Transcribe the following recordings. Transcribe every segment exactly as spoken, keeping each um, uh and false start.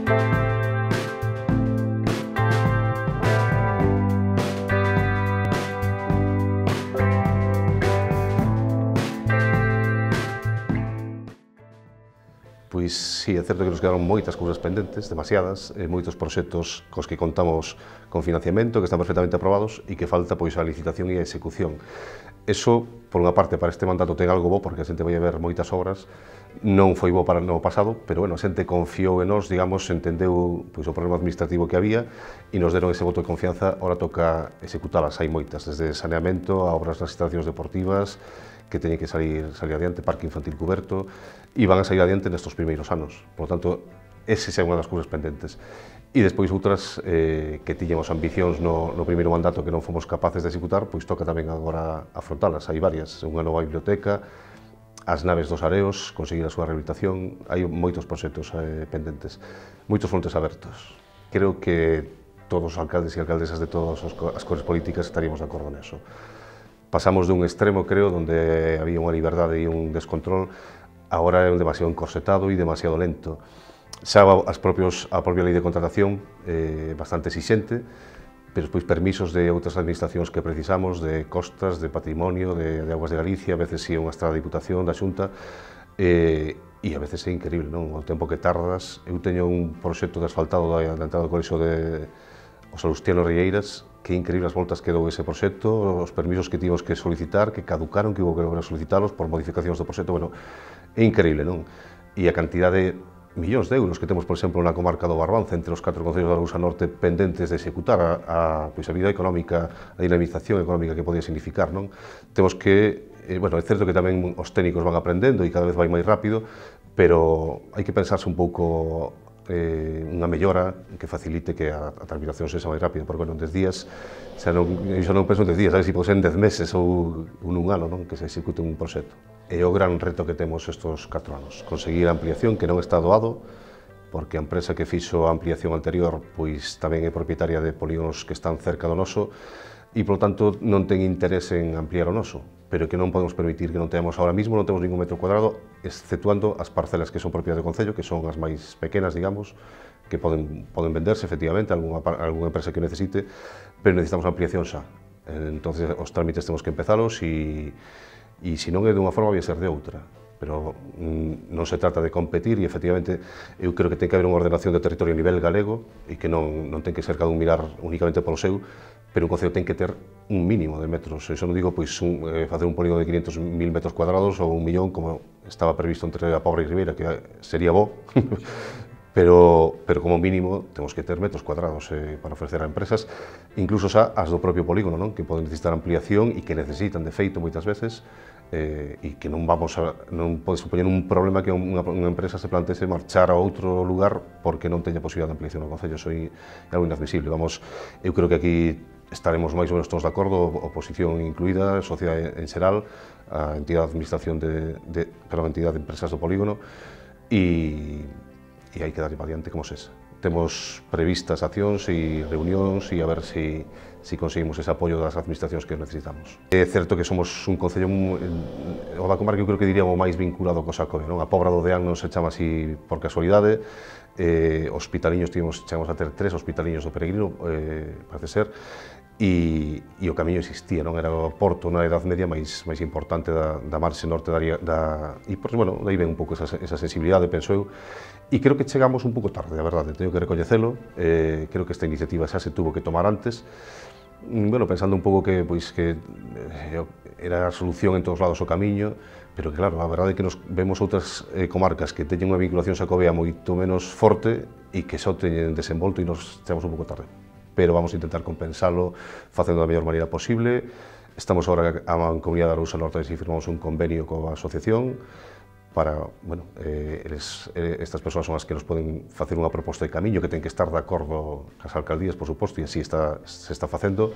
Pois si, é certo que nos quedaron moitas cousas pendentes, demasiadas, e moitos proxectos cos que contamos con financiamento, que están perfectamente aprobados e que falta pois a licitación e a execución. Eso, por unha parte, para este mandato ten algo bo, porque a xente vai a ver moitas obras, non foi bo para no pasado, pero bueno, a xente confiou en nós, digamos, entendeu pois, o problema administrativo que había e nos deron ese voto de confianza, ahora toca executalas, hai moitas, desde saneamento a obras nas instalacións deportivas, que teñen que salir, salir adiante, parque infantil cuberto, e van a salir adiante nestes primeiros anos. Por lo tanto, ese é unha das cousas pendentes. E despois outras eh, que tiñamos ambicións no, no primeiro mandato que non fomos capaces de executar, pois toca tamén agora afrontalas. Hai varias, unha nova biblioteca, as naves dos areos, conseguir a súa rehabilitación, hai moitos proxectos eh, pendentes, moitos frontes abertos. Creo que todos os alcaldes e alcaldesas de todas as cores políticas estaríamos de acordo neso. Pasamos dun extremo, creo, onde había unha liberdade e un descontrol, agora é un demasiado encorsetado e demasiado lento. Xa as propios, a propia lei de contratación é eh, bastante exixente, pero despois permisos de outras administracións que precisamos, de costas, de patrimonio, de, de Augas de Galicia, a veces si é unha estrada de Diputación, da Xunta, eh, e a veces é increíble, non? O tempo que tardas. Eu teño un proxecto de asfaltado da, da entrada do colexo de os Salustiano Rieiras, que increíble as voltas que dou ese proxecto, os permisos que tivemos que solicitar, que caducaron, que hubo que volver a solicitalos por modificacións do proxecto, bueno, é increíble, non? E a cantidade de millóns de euros que temos, por exemplo, na comarca do Barbanza, entre os catro concellos da Arousa Norte, pendentes de executar a, a, pois, a vida económica, a dinamización económica que podía significar, non? Temos que, eh, bueno, é certo que tamén os técnicos van aprendendo e cada vez vai máis rápido, pero hai que pensarse un pouco eh, unha mellora que facilite que a, a tramitación sexa máis rápida, porque, bueno, en dez días, xa non, eu xa non penso en dez días, sabes, se pode ser en dez meses ou un un ano, non? Que se execute un proxecto. É o gran reto que temos estes catro anos, conseguir a ampliación que non está doado, porque a empresa que fixo a ampliación anterior pois tamén é propietaria de polígonos que están cerca do noso e, polo tanto, non ten interés en ampliar o noso, pero que non podemos permitir que non temos ahora mismo, non temos ningún metro cuadrado, exceptuando as parcelas que son propias do Concello, que son as máis pequenas, digamos, que poden, poden venderse, efectivamente, a alguna, a alguna empresa que necesite, pero necesitamos ampliación xa. Entonces, os trámites temos que empezalos e e se non é dunha forma, vai ser de outra. Pero mm, non se trata de competir e, efectivamente, eu creo que ten que haber unha ordenación de territorio a nivel galego e que non, non ten que ser cada un mirar únicamente polo seu, pero un concello ten que ter un mínimo de metros. Eso non digo, pois, un, eh, facer un polígono de quinhentos mil metros cuadrados ou un millón, como estaba previsto entre a Pobra e Ribeira, que sería bo, pero, pero como mínimo temos que ter metros cuadrados eh, para ofrecer a empresas, incluso xa as do propio polígono, non? Que poden necesitar ampliación e que necesitan, de feito, moitas veces, eh, e que non vamos a, non pode supoñer un problema que unha, unha empresa se plantese marchar a outro lugar porque non teña posibilidade de ampliación no Concello. Eso é algo inadmisible. Vamos, eu creo que aquí estaremos máis ou menos todos de acordo, oposición incluída, sociedade en xeral, a entidade de administración de, de, perdón, a entidade de empresas do polígono, e, e hai que dar adiante como sesa. Temos previstas accións e reunións e a ver se si, si conseguimos ese apoio das administracións que necesitamos. É certo que somos un concello, o da comarca, eu creo que diríamos máis vinculado co Xacobeo, non? A Pobra do Deán non se chama así por casualidade, eh, hospitaliños, tivemos, chegamos a ter tres hospitaliños do Peregrino, eh, parece ser, e, e o camiño existía, non? Era o porto na Edad Media máis, máis importante da, da marxe norte da, da e, pois, bueno, daí ven un pouco esa, esa sensibilidade, penso eu, e creo que chegamos un pouco tarde, a verdade, teño que recoñecelo, eh, creo que esta iniciativa xa se tuvo que tomar antes, bueno, pensando un pouco que, pois, que eh, era a solución en todos lados o camiño, pero que, claro, a verdade é que nos vemos outras eh, comarcas que teñen unha vinculación xacobea moito menos forte e que só teñen desenvolto e nos chegamos un pouco tarde. Pero vamos a intentar compensalo facendo da mellor maneira posible. Estamos agora a Mancomunidade da Arousa Norte e firmamos un convenio coa asociación para, bueno, eh, eles, eh, estas persoas son as que nos poden facer unha proposta de camiño que ten que estar de acordo cas alcaldías, por suposto, e así está, se está facendo,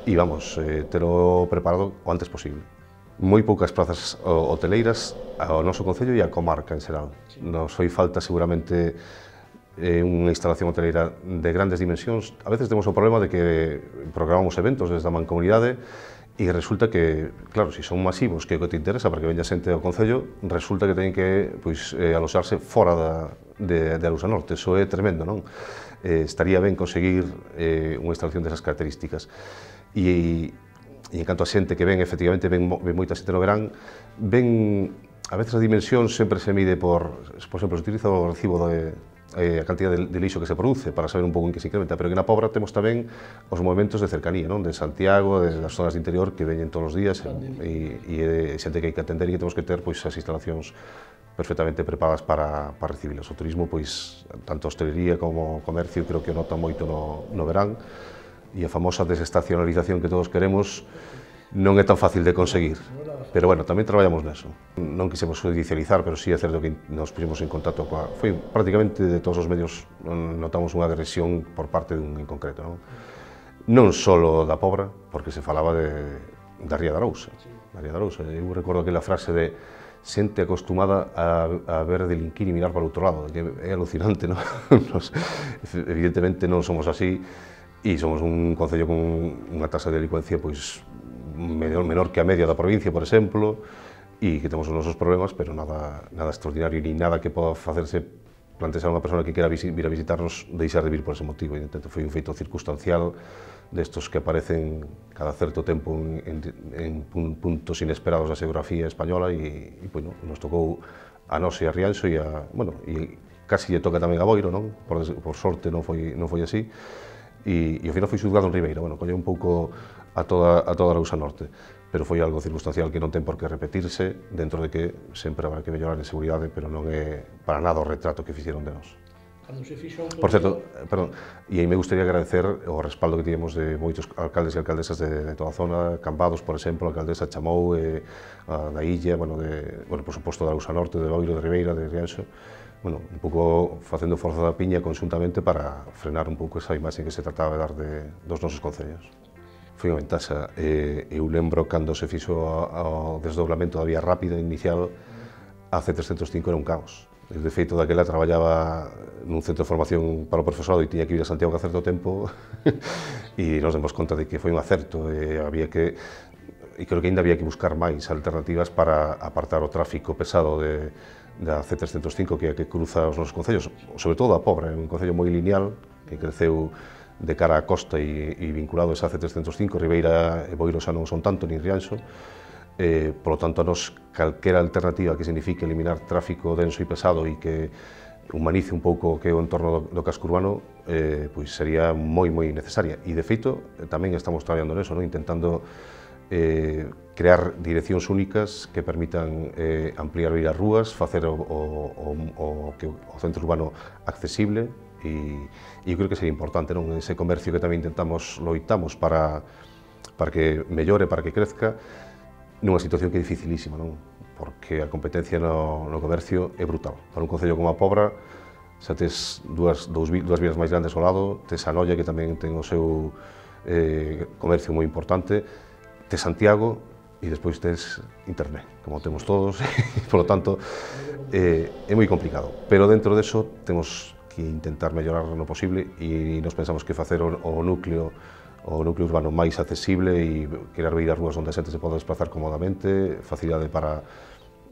e vamos, eh, telo preparado o antes posible. Moi poucas plazas hoteleiras ao noso concello e á comarca en xeral. Nos foi falta seguramente eh, unha instalación hoteleira de grandes dimensións. A veces temos o problema de que programamos eventos desde a Mancomunidade E resulta que, claro, se son masivos, que é o que te interesa para que veña xente ao Concello, resulta que teñen que pois, eh, aloxarse fora da, de, de Arousa Norte. Eso é tremendo, non? Eh, estaría ben conseguir eh, unha instalación desas características. E, e en canto a xente que ven, efectivamente, ven, ven moita xente no verán, ven, a veces a dimensión sempre se mide por, por exemplo, se utiliza o recibo de, eh, a cantidad de, de lixo que se produce para saber un pouco en que se incrementa, pero que na Pobra temos tamén os movimentos de cercanía, non? De Santiago, de das zonas de interior que veñen todos os días e, e, e xente que hai que atender e que temos que ter pois, as instalacións perfectamente preparadas para, para recibirlos. O turismo, pois, tanto a hostelería como o comercio, creo que o nota moito no, no verán, e a famosa desestacionalización que todos queremos non é tan fácil de conseguir. Pero, bueno, tamén traballamos neso. Non quisemos judicializar, pero sí é certo que nos pusimos en contacto coa... Foi prácticamente de todos os medios notamos unha agresión por parte dun en concreto, non? Non só da Pobra, porque se falaba de, da Ría de Arousa. Da Ría de Arousa. Eu recordo aquela frase de xente acostumada a, a ver delinquir e mirar para o outro lado, que é alucinante, non? Nos, evidentemente non somos así, e somos un concello con unha tasa de delincuencia pois, menor, menor que a media da provincia, por exemplo, e que temos os nosos problemas, pero nada, nada extraordinario, ni nada que poda facerse plantear a unha persona que quera vir a visitarnos deixar de vir por ese motivo. E, entón, foi un feito circunstancial destos que aparecen cada certo tempo en, en, en puntos inesperados da xeografía española e, e bueno, nos tocou a nós e a Rianxo e a, bueno, e casi lle toca tamén a Boiro, non? Por, por sorte non foi, non foi así. E, e ao final foi xulgado en Ribeira, bueno, colle un pouco a toda, a toda a Arousa Norte, pero foi algo circunstancial que non ten por que repetirse, dentro de que sempre habrá que mellorar en seguridade, pero non é para nada o retrato que fixeron de nós. Por certo, perdón, e aí me gustaría agradecer o respaldo que tivemos de moitos alcaldes e alcaldesas de, de toda a zona, Cambados, por exemplo, a alcaldesa Chamou, eh, a da Illa, bueno, de, bueno, por suposto da Arousa Norte, de Boiro, de Ribeira, de Rianxo, bueno, un pouco facendo forza da piña conxuntamente para frenar un pouco esa imaxe que se trataba de dar de, dos nosos concellos. Foi unha ventaxa. Eh, eu lembro cando se fixo o desdoblamento da vía rápida inicial, a C trescentos cinco era un caos. De feito, daquela traballaba nun centro de formación para o profesorado e tiña que ir a Santiago a certo tempo e nos demos conta de que foi un acerto e había que e creo que ainda había que buscar máis alternativas para apartar o tráfico pesado de da C trescentos cinco que é a que cruza os nosos concellos, sobre todo a Pobra, é un concello moi lineal que creceu de cara á costa e, e vinculado a esa C trescentos cinco, Ribeira e Boiro xa non son tanto, ni Rianxo, eh, por lo tanto, a nos calquera alternativa que signifique eliminar tráfico denso e pesado e que humanice un pouco o que é o entorno do, do casco urbano, eh, pois sería moi, moi necesaria. E, de feito, tamén estamos traballando neso, non? Intentando eh, crear direccións únicas que permitan eh, ampliar as rúas, facer o, o, o, o, que o centro urbano accesible e, e eu creo que sería importante, non? Ese comercio que tamén intentamos, loitamos para, para que mellore, para que crezca, nunha situación que é dificilísima, non? Porque a competencia no, no comercio é brutal. Para un concello como a Pobra, xa tes dúas, dous, dúas vías máis grandes ao lado, tes a Noia, que tamén ten o seu eh, comercio moi importante, tes Santiago e despois tes internet, como temos todos, e, por lo tanto, eh, é moi complicado. Pero dentro deso temos que intentar mellorar no posible e nos pensamos que facer o, o núcleo o núcleo urbano máis accesible e querer ver as rúas onde a xente se pode desplazar cómodamente, facilidade para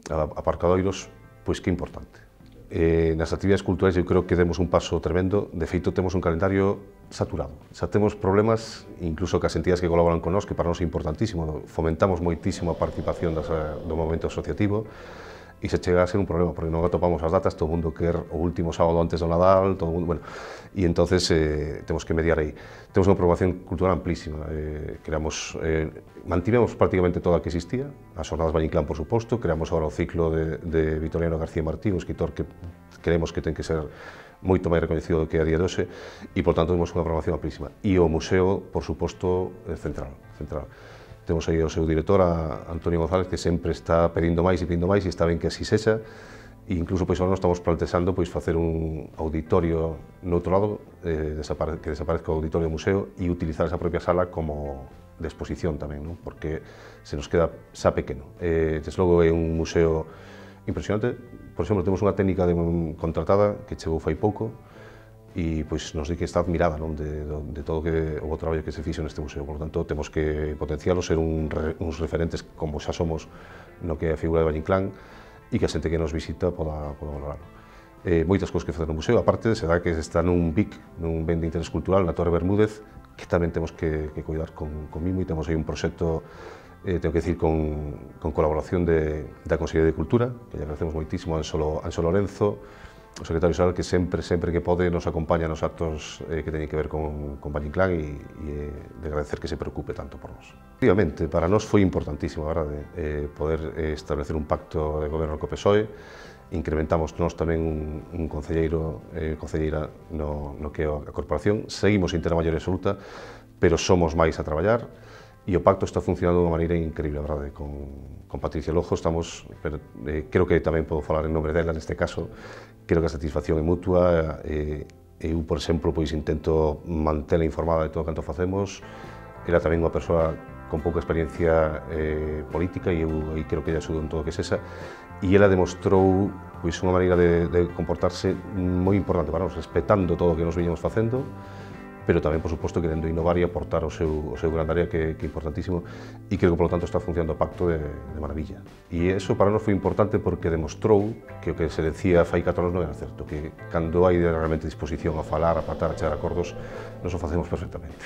aparcadoiros, pois que é importante. Eh, nas actividades culturais eu creo que demos un paso tremendo, de feito temos un calendario saturado, xa temos problemas incluso cas entidades que colaboran con nós, que para nós é importantísimo, fomentamos moitísimo a participación das, do movimento asociativo, e se chega a ser un problema, porque non atopamos as datas, todo o mundo quer o último sábado antes do Nadal, todo o mundo, bueno, e entonces eh, temos que mediar aí. Temos unha programación cultural amplísima, eh, creamos, eh, mantivemos prácticamente toda a que existía, as Xornadas Valle Inclán, por suposto, creamos agora o ciclo de, de Vitoriano García Martín, un escritor que creemos que ten que ser moito máis reconhecido do que a día de hoxe, e, por tanto, temos unha programación amplísima. E o museo, por suposto, central, central. Temos aí o seu director, a Antonio González, que sempre está pedindo máis e pedindo máis, e está ben que así sexa, e incluso pois, agora nos estamos plantexando pois, facer un auditorio no outro lado, eh, desapare que desaparezca o auditorio do museo e utilizar esa propia sala como de exposición tamén, non? Porque se nos queda xa pequeno. Eh, desde logo é un museo impresionante. Por exemplo, temos unha técnica de, contratada que chegou fai pouco, e pois nos di que está admirada, non, de, de todo que, o traballo que se fixo neste museo. Por lo tanto, temos que potencialo, ser un, uns referentes como xa somos no que é a figura de Valle Inclán e que a xente que nos visita poda, poda valorarlo. Eh, moitas cousas que facer no museo, aparte, se dá que está nun B I C, nun ben de interés cultural, na Torre Bermúdez, que tamén temos que, que cuidar con, con mimo, e temos aí un proxecto, eh, tengo que decir, con, con colaboración de, da Consellería de Cultura, que lle agradecemos moitísimo a Anxo, Anxo Lorenzo, o secretario xeral, que sempre, sempre que pode nos acompaña nos actos eh, que teñen que ver con, con Valle Inclán, e, e eh, de agradecer que se preocupe tanto por nós. Efectivamente, para nós foi importantísimo, a verdade, eh, poder eh, establecer un pacto de goberno co P S O E. Incrementamos nós tamén un, un concelleiro, eh, concelleira no, no que é a corporación. Seguimos sin ter a maioría absoluta, pero somos máis a traballar, e o pacto está funcionando de unha maneira increíble, a verdade. Con, con Patricia Lojo estamos, pero, eh, creo que tamén podo falar en nome dela neste caso, creo que a satisfacción é mutua. Eh, eu, por exemplo, pois intento mantela informada de todo canto facemos. Ela tamén unha persoa con pouca experiencia eh, política, e eu aí creo que ella axuda en todo o que sesa, e ela demostrou pois unha maneira de, de comportarse moi importante para nós, respetando todo o que nos viñamos facendo, pero tamén, por suposto, querendo innovar e aportar o seu, o seu gran área, que, que é importantísimo, e creo que, por lo tanto, está funcionando o pacto de, de maravilla. E iso para nós foi importante porque demostrou que o que se decía fai catro anos non era certo, que cando hai realmente disposición a falar, a pactar, a chegar a acordos, nos o facemos perfectamente.